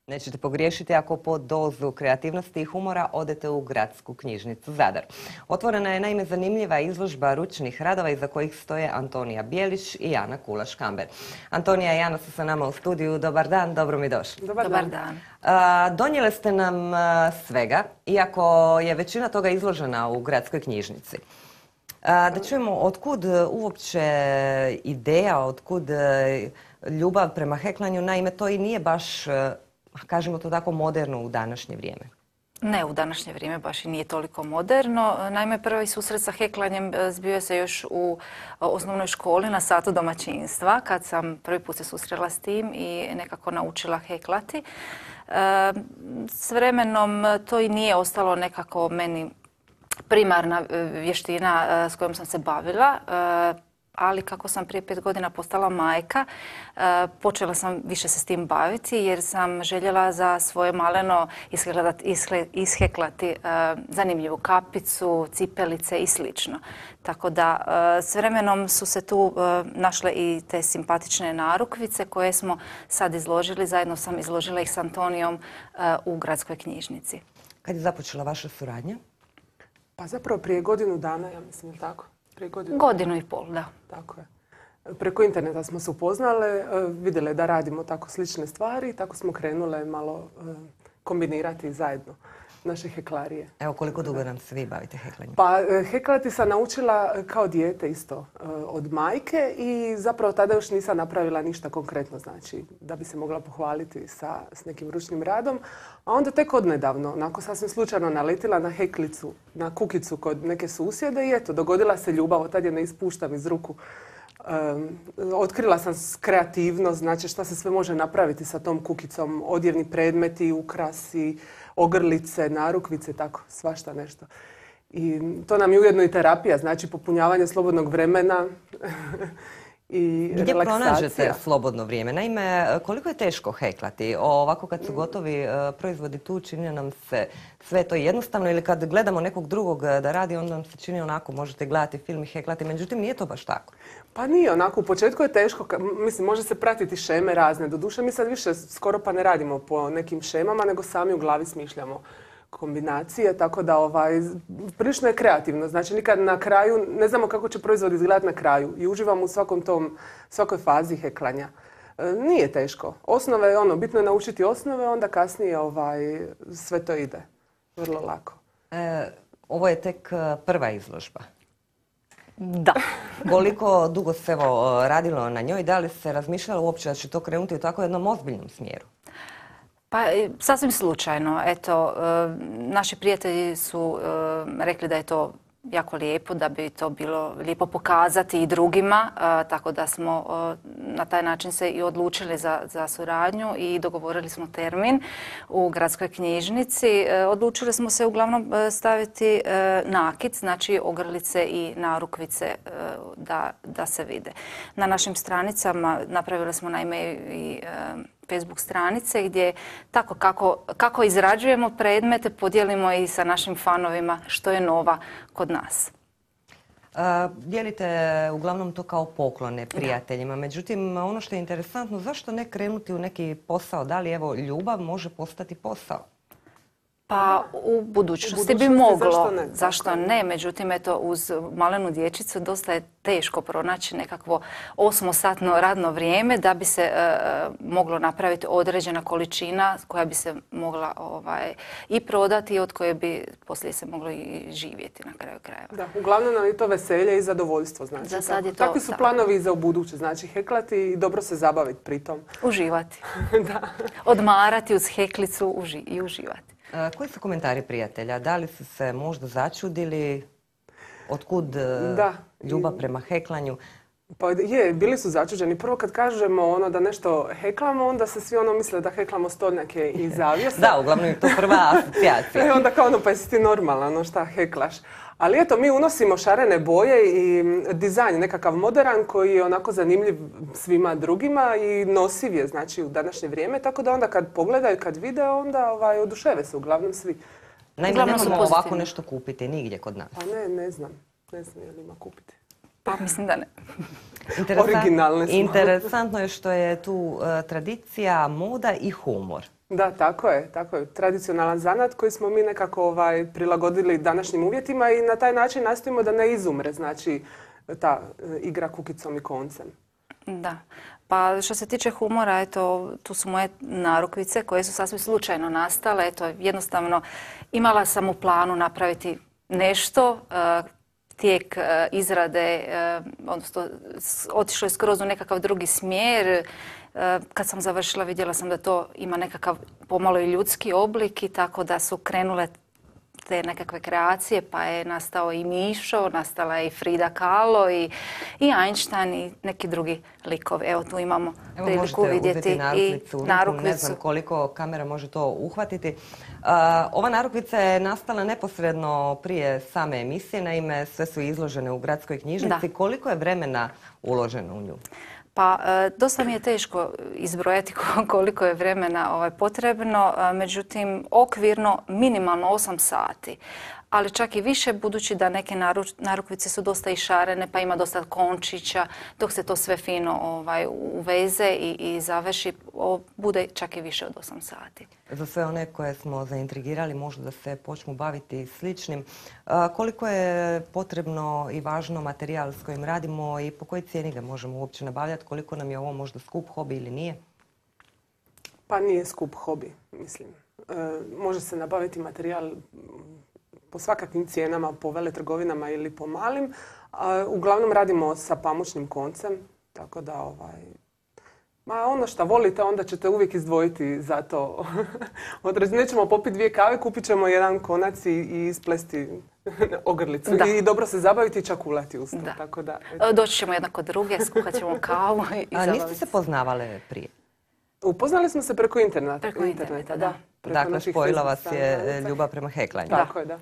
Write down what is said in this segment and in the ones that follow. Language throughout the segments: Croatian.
Nećete pogriješiti ako po dozu kreativnosti i humora odete u Gradsku knjižnicu Zadar. Otvorena je naime zanimljiva izložba ručnih radova iza kojih stoje Antonija Bijelić i Ana Kulaš-Kamber. Antonija i Ana su sa nama u studiju. Dobar dan, dobro mi došli. Dobar dan. Donijeli ste nam svega, iako je većina toga izložena u Gradskoj knjižnici. Da čujemo otkud uopće ideja, otkud ljubav prema heklanju, naime to i nije baš, kažemo to tako, moderno u današnje vrijeme. Ne, u današnje vrijeme baš i nije toliko moderno. Naime, prvi susret sa heklanjem zbio se još u osnovnoj školi na satu domaćinstva, kad sam prvi put se susrela s tim i nekako naučila heklati. S vremenom to i nije ostalo nekako meni primarna vještina s kojom sam se bavila, ali kako sam prije 5 godina postala majka, počela sam više se s tim baviti jer sam željela za svoje maleno isheklati zanimljivu kapicu, cipelice i slično. Tako da s vremenom su se tu našle i te simpatične narukvice koje smo sad izložili. Zajedno sam izložila ih s Antonijom u Gradskoj knjižnici. Kad je započela vaša suradnja? Pa zapravo prije godinu dana, ja mislim, je tako? Godinu i pol, da. Tako je. Preko interneta smo se upoznale, vidjele da radimo tako slične stvari i tako smo krenule malo kombinirati zajedno naše heklarije. Evo, koliko dugo nam se vi bavite heklanjem? Pa heklati sam naučila kao dijete isto od majke i zapravo tada još nisam napravila ništa konkretno, znači da bi se mogla pohvaliti s nekim ručnim radom. A onda tek odnedavno, onako sasvim slučajno naletila na heklicu, na kukicu kod neke susjede i eto, dogodila se ljubav, od tad je ne ispuštam iz ruku. Otkrila sam kreativnost, znači šta se sve može napraviti sa tom kukicom, odjevni predmeti, ukrasi, ogrlice, narukvice, tako, svašta nešto. I to nam je ujedno i terapija, znači popunjavanje slobodnog vremena i gdje relaksacija. pronađete slobodno vrijeme? Naime, koliko je teško heklati? Ovako kad su gotovi proizvodi tu, čini nam se sve to jednostavno, ili kad gledamo nekog drugog da radi, onda nam se čini onako, možete gledati film i heklati, međutim nije to baš tako. Pa nije onako, u početku je teško, mislim, može se pratiti šeme razne. Doduše, mi sad više skoro pa ne radimo po nekim šemama, nego sami u glavi smišljamo kombinacije, tako da prilično je kreativno. Znači, nikad na kraju, ne znamo kako će proizvod izgledati na kraju i uživamo u svakoj fazi heklanja. Nije teško. Osnove, bitno je naučiti osnove, onda kasnije sve to ide vrlo lako. Ovo je tek prva izložba. Da. Koliko dugo se radilo na njoj? Da li se razmišljalo uopće da će to krenuti u tako jednom ozbiljnom smjeru? Pa sasvim slučajno. Eto, naši prijatelji su rekli da je to jako lijepo, da bi to bilo lijepo pokazati i drugima, tako da smo na taj način se i odlučili za suradnju i dogovorili smo termin u Gradskoj knjižnici. Odlučili smo se uglavnom staviti nakit, znači ogrlice i narukvice da se vide. Na našim stranicama napravili smo naime i Facebook stranice gdje tako kako izrađujemo predmete podijelimo i sa našim fanovima što je nova kod nas. Dijelite uglavnom to kao poklone prijateljima, međutim ono što je interesantno, zašto ne krenuti u neki posao? Da li evo ljubav može postati posao? Pa u budućnosti bi moglo, zašto ne? Međutim, eto, uz malenu dječicu dosta je teško pronaći nekakvo 8-satno radno vrijeme da bi se moglo napraviti određena količina koja bi se mogla i prodati i od koje bi poslije se moglo i živjeti na kraju krajeva. Da, uglavnom nam je to veselje i zadovoljstvo. Znači, za sad je to, takvi su planovi i za ubuduće, znači heklati i dobro se zabaviti pritom. Uživati. Da. Odmarati uz heklicu i uživati. Koji su komentari prijatelja? Da li su se možda začudili? Otkud ljubav prema heklanju? Pa bili su začuđeni. Prvo kad kažemo da nešto heklamo, onda se svi misle da heklamo stolnjake i zavjese. Da, uglavnom je to prva asocijacija. I onda kao pa jesi ti normalan, šta heklaš. Ali eto, mi unosimo šarene boje i dizajn nekakav modern koji je onako zanimljiv svima drugima i nosiv je, znači, u današnje vrijeme. Tako da onda kad pogledaju, kad vide, onda oduševe se uglavnom svi. Naime, nemamo ovako nešto kupiti nigdje kod nas. Pa ne znam. Ne znam je li ima kupiti. Pa mislim da ne. Originalne smo. Interesantno je što je tu tradicija, moda i humor. Da, tako je. Tradicionalan zanat koji smo mi nekako prilagodili današnjim uvjetima i na taj način nastojimo da ne izumre, znači ta igra kukicom i koncem. Da. Pa što se tiče humora, eto, tu su moje narukvice koje su sasvim slučajno nastale. Eto, jednostavno imala sam u planu napraviti nešto, tijek izrade, odnosno otišlo je skroz u nekakav drugi smjer. Kad sam završila vidjela sam da to ima nekakav pomalo i ljudski oblik i tako da su krenule te nekakve kreacije, pa je nastao i Mišo, nastala je i Frida Kahlo i Einstein i neki drugi likovi. Evo tu imamo priliku vidjeti i narukvicu. Ne znam koliko kamera može to uhvatiti. Ova narukvica je nastala neposredno prije same emisije, naime sve su izložene u gradskoj knjižnici. Da. Koliko je vremena uloženo u nju? Pa dosta mi je teško izbrojati koliko je vremena potrebno, međutim okvirno minimalno 8 sati. Ali čak i više budući da neke narukvice su dosta i šarene pa ima dosta končića, dok se to sve fino uveze i završi, bude čak i više od 8 sati. Za sve one koje smo zaintrigirali možda da se počnu baviti sličnim, koliko je potrebno i važno materijal s kojim radimo i po kojoj cijeni ga možemo uopće nabavljati, koliko nam je ovo možda skup hobi ili nije? Pa nije skup hobi, mislim. Može se nabaviti materijal po svakakvim cijenama, po veletrgovinama ili po malim. Uglavnom radimo sa pamučnim koncem, tako da ono što volite, onda ćete uvijek izdvojiti za to. Nećemo popiti 2 kave, kupit ćemo jedan konac i isplesti ogrlicu. Da. I dobro se zabaviti i čakulati uz to. Da. Tako da, Doći ćemo jedna kod druge, skuhat ćemo kavu i zabaviti. Niste se poznavale prije? Upoznali smo se preko interneta. Preko interneta, da. Preko Dakle, naših spojila Facebook vas je stranica. ljubav prema heklanju. Tako je, da.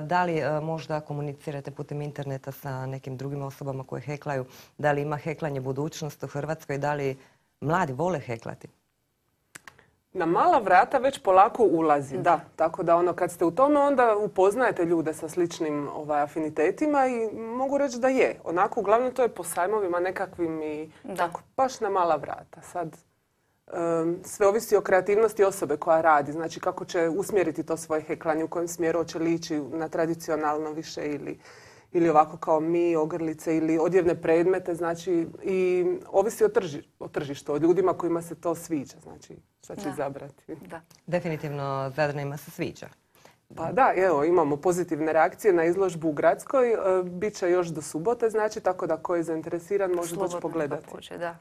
Da li možda komunicirate putem interneta sa nekim drugim osobama koje heklaju? Da li ima heklanje budućnost u Hrvatskoj? Da li mladi vole heklati? Na mala vrata već polako ulazi, da. Tako da kad ste u tome onda upoznajete ljude sa sličnim afinitetima i mogu reći da je. Onako, uglavnom to je po sajmovima nekakvim i tako, baš na mala vrata. Sad, sve ovisi o kreativnosti osobe koja radi, znači kako će usmjeriti to svoje heklanje, u kojem smjeru hoće li ići na tradicionalno više ili ovako kao mi, ogrlice ili odjevne predmete, znači i ovisi o tržištu, o ljudima kojima se to sviđa, znači šta će izabrati. Da. Definitivno Zadranima se sviđa. Pa da, evo, imamo pozitivne reakcije na izložbu u Gradskoj, bit će još do subote, znači tako da ko je zainteresiran može doći pogledati. Pođe, da.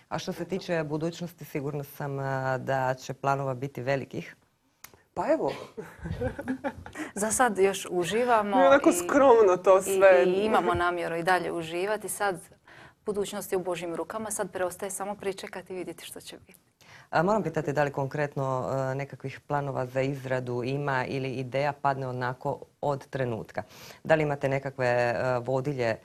A što se tiče budućnosti, sigurna sam da će planova biti velikih. Pa evo. Za sad još uživamo. I onako skromno to sve. I imamo namjeru i dalje uživati. Sad budućnost je u Božjim rukama, sad preostaje samo pričekati i vidjeti što će biti. Moram pitati da li konkretno nekakvih planova za izradu ima ili ideja padne onako od trenutka. Da li imate nekakve vodilje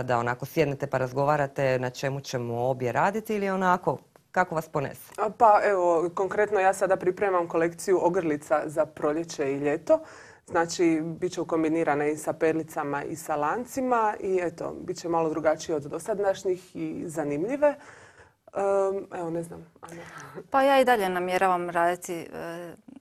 da onako sjednete pa razgovarate na čemu ćemo obje raditi ili onako kako vas ponese? Pa evo, konkretno ja sada pripremam kolekciju ogrlica za proljeće i ljeto. Znači, bit će ukombinirana i sa perlicama i sa lancima i eto, bit će malo drugačije od dosadašnjih i zanimljive. Evo, ne znam, Anja. Pa ja i dalje namjeravam raditi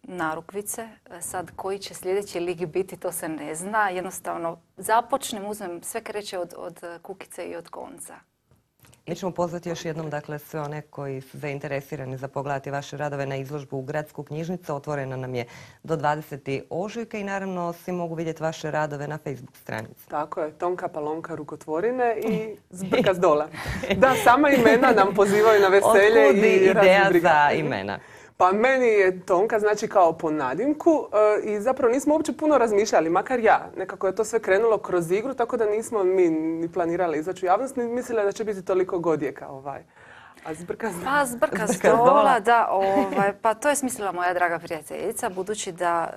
narukvice. Sad koji će sljedeći lik biti, to se ne zna. Jednostavno započnem, uzmem, sve kreće od kukice i od konca. Mi ćemo pozvati još jednom dakle, sve one koji su zainteresirani za pogledati vaše radove na izložbu u Gradsku knjižnicu. Otvorena nam je do 20. ožujka i naravno svi mogu vidjeti vaše radove na Facebook stranici. Tako je, Tonka Palonka rukotvorine i Zbrka s dola. Da, sama imena nam pozivaju na veselje. Otkud i ideja za imena? Pa meni je Tonka znači kao po nadimku i zapravo nismo uopće puno razmišljali, makar ja. Nekako je to sve krenulo kroz igru, tako da nismo mi ni planirali izaći u javnost, ni mislili da će biti toliko godijeka. A Zbrka s dola? Pa Zbrka s dola, da. Pa to je smislila moja draga prijateljica, budući da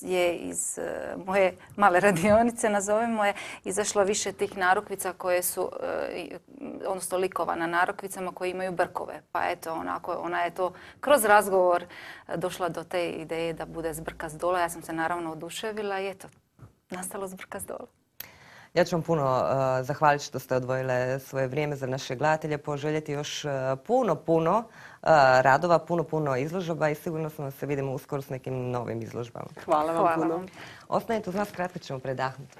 je iz moje male radionice, nazovemo je, izašlo više tih narukvica koje su, odnosno likova na narukvicama koje imaju brkove. Pa eto, ona je to kroz razgovor došla do te ideje da bude Zbrka s dola. Ja sam se naravno oduševila i eto, nastalo Zbrka s dola. Ja ću vam puno zahvaliti što ste odvojile svoje vrijeme za naše gledatelje, poželjeti još puno radova, puno izložba i sigurno smo se vidimo uskoro s nekim novim izložbama. Hvala vam puno. vam. Ostanite uz nas, kratko ćemo predahnuti.